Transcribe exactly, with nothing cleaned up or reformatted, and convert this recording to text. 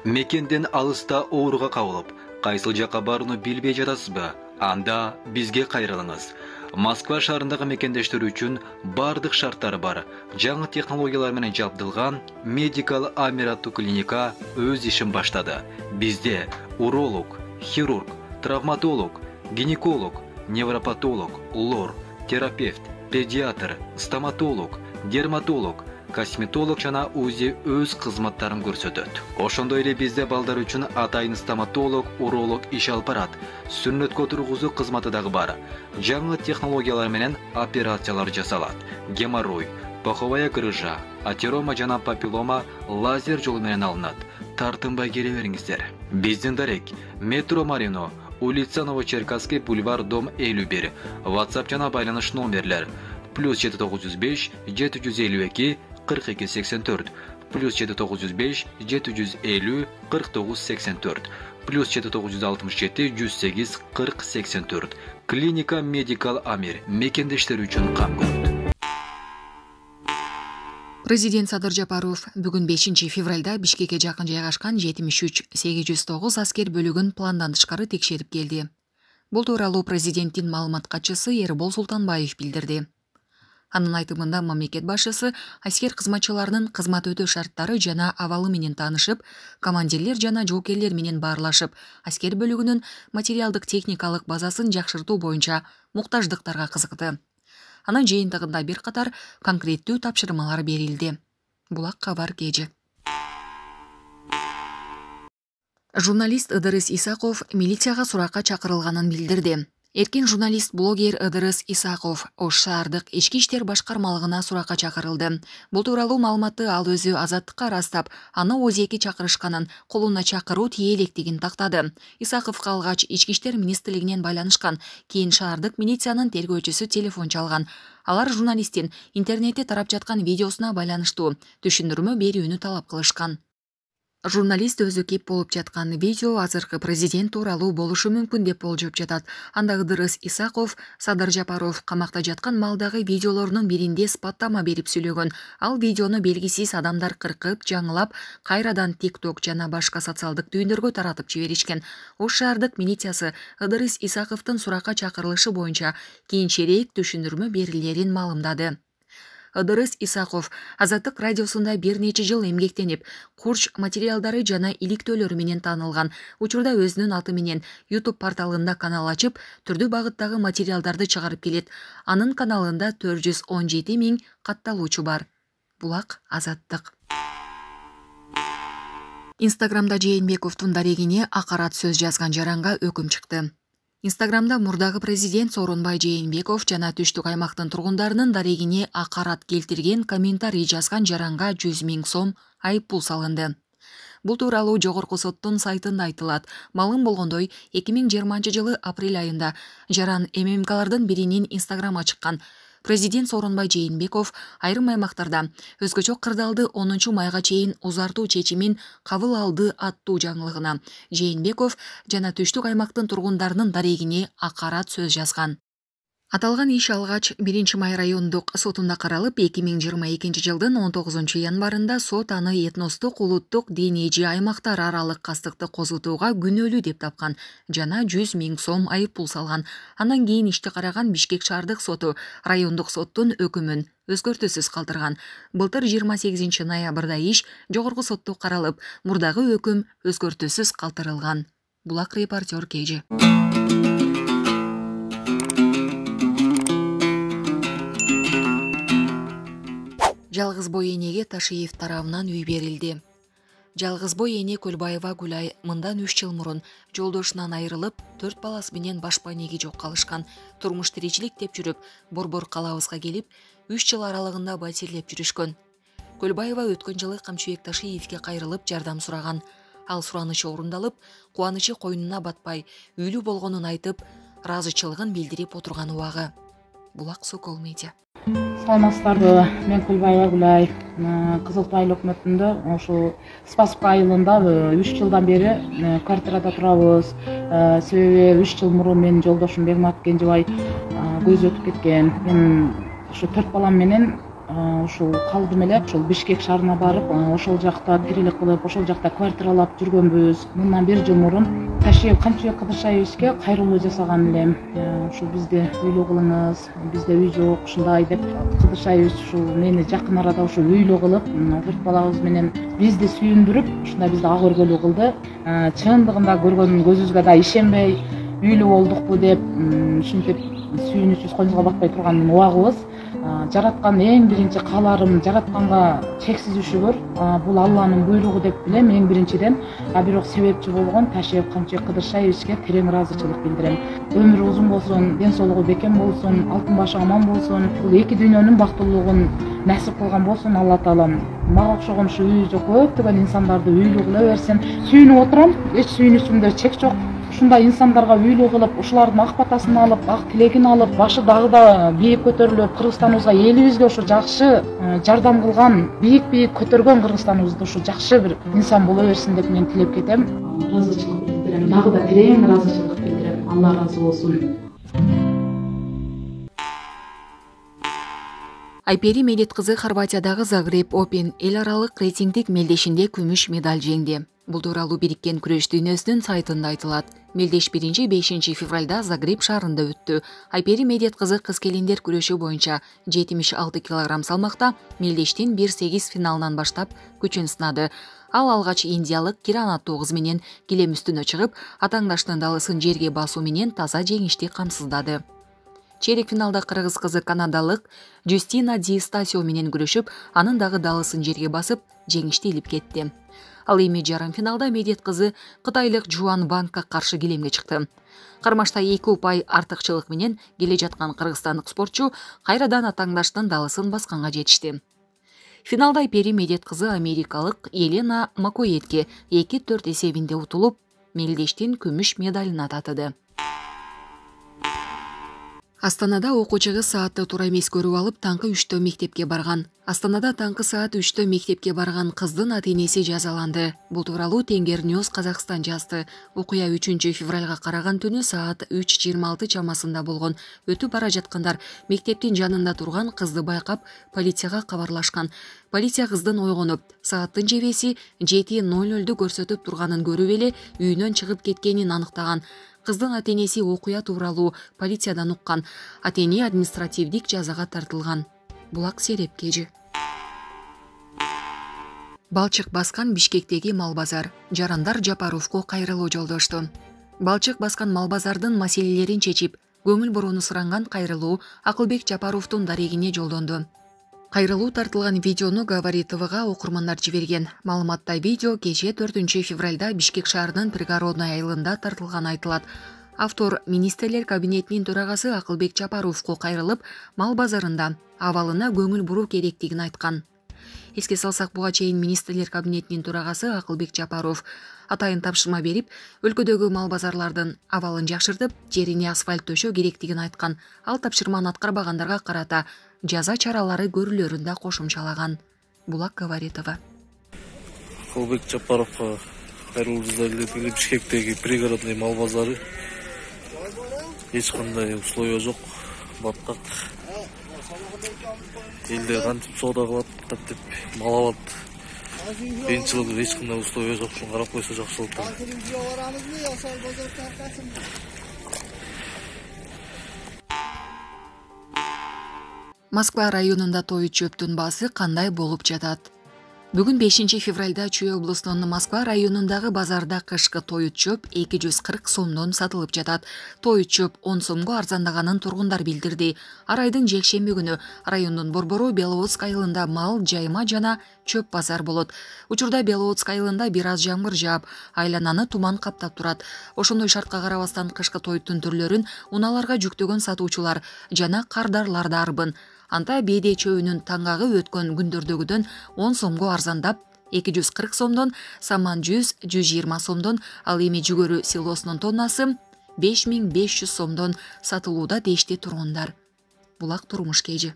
Мекенден алыста ооруга кабылып, кайсыл жакка барууну билбей жатасызбы? Анда бизге кайрылыңыз. Москва шаарындагы мекендештер үчүн бардык шарттары бар. Жаңы технологиялар менен жабдылган Medical Amir аттуу клиника өз ишин баштады. Бизде уролог, хирург, травматолог, гинеколог, невропатолог, лор, терапевт, педиатр, стоматолог, дерматолог, косметолог жана УЗИ өз кызматтарын көрсөтөт. Ошондой эле бизде балдар үчүн атайын стоматолог, уролог иш алып барат. Сүннөткө тургузуу кызматы дагы бар. Жаңы технологиялар менен операциялар жасалат. Геморрой, паховая грыжа, атерома жана папиллома лазер жолу менен алынат. Тартынбай келе бериңиздер. Биздин дарек метро Марино, улица Новочеркасский, бульвар, дом элүү бир. WhatsApp жана байланыш номерлер плюс жети тогуз жүз беш жети жүз элүү эки кырк эки сексен төрт, плюс жети тогуз жүз беш жети жүз элүү кырк тогуз сексен төрт, плюс жети тогуз жүз алтымыш жети жүз сегиз кырк сексен төрт. Клиника Medical Amir мекендештер үчүн кам көрөт. Президент Садыр Жапаров бүгүн бешинчи февралда Бишкекке жакын жайгашкан жетимиш үч сегиз жүз тогуз аскер бөлүгүн пландан тышкары текшерип келди. Бул тууралуу президенттин маалымат катчысы Эрбол Султанбаев билдирди. Анын айтымында мамлекет башчысы аскер кызматчыларынын кызмат өтөө шарттары жана абалы менен таанышып, командирлер жана жоокерлер менен баарлашып, аскер бөлүгүнүн материалдык техникалык базасын жакшыртуу боюнча муктаждыктарга кызыкты. Анын жыйынтыгында бир катар конкреттүү тапшырмалар берилди. Булак кабар кежи. Журналист Ыдырыс Исаков милицияга суракка чакырылганын билдирди. Эркин журналист-блогер Ыдырыс Исаков Ош шаардык ички иштер башкармалыгына суракка чакырылды. Бул тууралуу маалыматты ал өзү Азаттыкка ырастап, аны он эки чакырышканын, колуна чакыруу тие электигин тактады. Исаков калгач ички иштер министрлигинен байланышкан, кийин шаардык милициянын тергөөчүсү телефон чалган. Алар журналисттин интернетте тарап жаткан видеосуна байланыштуу түшүндүрмө берүүнү талап кылышкан. Журналист өзү кеп болуп жаткан видео азыркы президент тууралуу болушу мүмкүн деп болжоп жатат. Анда Ыдырыс Исаков Садыр Жапаров камакта жаткан маалдагы видеолорунун биринде сыпаттама берип сүйлөгөн. Ал видеону белгисиз адамдар кыркып, жаңылап, кайрадан TikTok жана башка социалдык түйүндөргө таратып жиберишкен. Ош шаардык милициясы Ыдырыс Исаковдун суракка чакырылышы боюнча кийинчерээк түшүндүрмө берилерин маалымдады. Ыдырыс Исаков Азаттык радиосунда бир нече жыл эмгектенип, курч материалдары жана иликтөөлөрү менен таанылган. Учурда өзүнүн аты менен YouTube порталында канал ачып, түрдүү багыттагы материалдарды чыгарып келет. Анын каналында төрт жүз он жети миң катталуучу бар. Булак Азаттык. Инстаграмда Жээнбековдун дарегине акарат сөз жазган жаранга өкүм чыкты. Инстаграмда мурдагы президент Сооронбай Жээнбеков жана түштүк аймактын тургундарынын дарегине акарат келтирген комментарий жазган жаранга жүз миң сом айып пул салынды. Бул тууралуу жогорку соттун сайтында айтылат. Маалым болгондой, эки миң жыйырманчы жылы апрель айында жаран эм эм калардын биринин инстаграмы чыккан. Президент Сооронбай Жээнбеков айрым аймактарда өзгөчө кырдаалды онунчу майга чейин узартуу чечимин кабыл алды аттуу жаңылыгына Жээнбеков жана түштүк аймактын тургундарынын дарегине акарат сөз жазган. Аталган иш алгач биринчи май райондук сотунда каралып, эки миң жыйырма экинчи жылдын он тогузунчу январында сот аны этностук, улуттук, диний аймактар аралык кастыкты козутууга күнөөлүү деп тапкан жана жүз миң сом айып пул салган. Андан кийин ишти караган Бишкек шаардык соту райондук соттун өкүмүн өзгөртүүсүз калтырган. Былтыр жыйырма сегизинчи ноябрда иш жогорку сотто каралып, мурдагы өкүм өзгөртүүсүз калтырылган. Булак репортер Кежи. Жалгыз бой энеге Ташиев тарабынан үй берилди. Жалгыз бой эне Көлбаева Гүлай мындан үч жыл мурун жолдошунан айрылып, төрт баласы менен башпай неги жок калышкан. Турмуш тиричилик деп жүрүп, борбор калабызга келип, үч жыл аралыгында батирлеп жүрүшкөн. Көлбаева өткөн жылы Камчыбек Ташиевке кайрылып жардам сураган. Ал суранычы орундалып, кубанычы койнуна батпай, үйлүү болгонун айтып, ыраазычылыгын билдирип отурган убагы. Булак Сокол медиа. Саламатсыздарбы, мен Көлбаева Гүлай. Кызылтуу айыл өкмөтүндө ошол Спасск айылында үч жылдан бери квартирада турабыз. Себеби үч жыл мурун менин жолдошум Бегмат Кенжебай көйүз өтүп кеткен. Мен ошо төрт балам менен ушул калдым эле ошол Бишкек шаарына барып, ошол жакта тирилик кылып, ошол жакта квартиралап жүргөнбүз. Мындан бир жыл мурун Ташиев Камчыбек Кыдыршаевичке кайрылуу жасаган элем. Ушул бизде үйлөө кылыңыз, бизде үй жок, ушундай деп Кыдыршаевич ушул мени жакын арада ушул үйлөө кылып, төрт балабыз менен бизди сүйүндүрүп, ушундай бизди ак өргөлүү кылды. Чындыгында көргөн көзүбүзгө да ишенбей, үйлүү болдукпу деп, ушинтип сүйүнүчүбүз коюбузга батпай турганын убагыбыз. Жараткан эң биринчи кааларым, жаратканга чексиз шүгүр, бул Алланын буйругу деп билем эң биринчиден. А бирок себепчи болгон Ташиев Камчыбек Кыдыршаевичке терең ыраазычылык билдирем. Өмүрү узун болсун, ден соолугу бекем болсун, алтын башы аман болсун. Бул эки дүйнөнүн бактылуулугун насип кылган болсун Алла таалам. Мага окшогон ушу үйү жок көптөгөн инсандарды үйлүү кыла берсин. Сүйүнүп отурам, эч сүйүнүчүмдө чек жок. Ушундай инсандарга үйлүү кылып, ушулардын ак батасын алып, ак тилегин алып, башы дагы да бийик көтөрүлүп, Кыргызстаныбызга, элибизге ушу жакшы жардам кылган, бийик-бийик көтөргөн Кыргызстаныбызда ушу жакшы бир инсан боло берсин деп мен тилеп кетем. Ыраазычылык билдирем, дагы да терең ыраазычылык билдирем. Алла ыраазы болсун. Айпери Медет кызы Хорватиядагы Загреб Open эл аралык рейтингдик мелдешинде күмүш медаль жеңди. Бул тууралуу Бириккен күрөш дүйнөсүнүн сайтында айтылат. Мелдеш биринчи бешинчи февралда Загреб шаарында өттү. Айпери Медет кызы кыз келиндер күрөшү боюнча жетимиш алты килограмм салмакта мелдештин бир сегиз финалынан баштап күчүн сынады. Ал алгач индиялык Киранату кыз менен килем үстүнө чыгып, атаңдаштын далысын жерге басуу менен таза жеңишти камсыздады. Чейрек финалда кыргыз кызы канадалык Жустина Ди Стасио менен күрөшүп, анын дагы далысын жерге басып, жеңишти илип кетти. Ал эми жарым финалда Медет кызы кытайлык Жуан Ванга каршы килемге чыкты. Кармашта эки упай артыкчылык менен келе жаткан кыргызстандык спортчу кайрадан атаңдаштын далысын басканга жетишти. Финалда Айпери Медет кызы америкалык Елена Макоетке эки төрт эсебинде утулуп, мелдештин күмүш медалын татыды. Астанада окуучу кыз саатты туура эмес көрүп алып, таңкы үчтө мектепке барган. Астанада таңкы саат үчтө мектепке барган кыздын ата-энеси жазаланды. Бул тууралуу Тенгерньюз Казакстан жазды. Окуя үчүнчү февралга караган түнү саат үч жыйырма алты чамасында болгон. Өтүп бара жаткандар мектептин жанында турган кызды байкап, полицияга кабарлашкан. Полиция кыздын ойгонуп, сааттын жебеси жети ноль нольду көрсөтүп турганын көрүп эле үйүнөн чыгып кеткенин аныктаган. Кыздын ата-энеси окуя тууралуу полициядан уккан. Ата-эне административдик жазага тартылган. Булак серепкежи. Балчык баскан Бишкектеги мал базар. Жарандар Жапаровго кайрылуу жолдошту. Балчык баскан мал базардын маселелерин чечип, көңүл бурууну суранган кайрылуу Акылбек Жапаровдун дарегине жолдонду. Кайрылуу тартылган видеону Говори ТВга окурмандар жиберген. Маалыматта видео кечээ төртүнчү февралда Бишкек шаарынын Пригородный айылында тартылган айтылат. Автор министрлер кабинетинин төрагасы Акылбек Жапаровго кайрылып, мал базарында абалына көңүл буруу керектигин айткан. Эске салсак, буга чейин министрлер кабинетинин төрагасы Акылбек Жапаров атайын тапшырма берип, өлкөдөгү мал базарлардын абалын жакшыртып, жерине асфальт төшөө керектигин айткан. Ал тапшырманы аткарбагандарга карата жаза чаралары көрүлөрүн да кошумчалаган. Булак Говори ТВ. Акылбек Жапаровго кайрылуубузду билдирели. Бишкектеги пригородный мал базары эч кандай условия жок, баттак. Элде кантип соода кылат, кантип мал алат. Кыйынчылык эч кандай условия жок, ушуну карап койсо жакшы болот. Москва районунда той чөптүн баасы кандай болуп жатат? Бүгүн бешинчи февралда Чүй облусунун Москва районундагы базарда кышкы той чөп эки жүз кырк сомдон сатылып жатат. Той чөп он сомго арзандаганын тургундар билдирди. Ар айдын жекшемби күнү райондун Борбору Беловодск айылында мал, жайма жана чөп базар болот. Учурда Беловодск айылында бир аз жамгыр жаап, айлананы туман каптап турат. Ошондой шартка карабастан кышкы тойтун түрлөрүн унааларга жүктөгөн сатуучулар жана кардарлар да арбын. Анта беде чөйүнүн таңгагы өткөн күндөрдөгүдөн он сомго арзандап, эки жүз кырк сомдон, саман жүз, жүз жыйырма сомдон, ал эми жүгөрү силосунун тоннасы беш миң беш жүз сомдон сатылууда дешти тургундар. Булак турмуш кежи.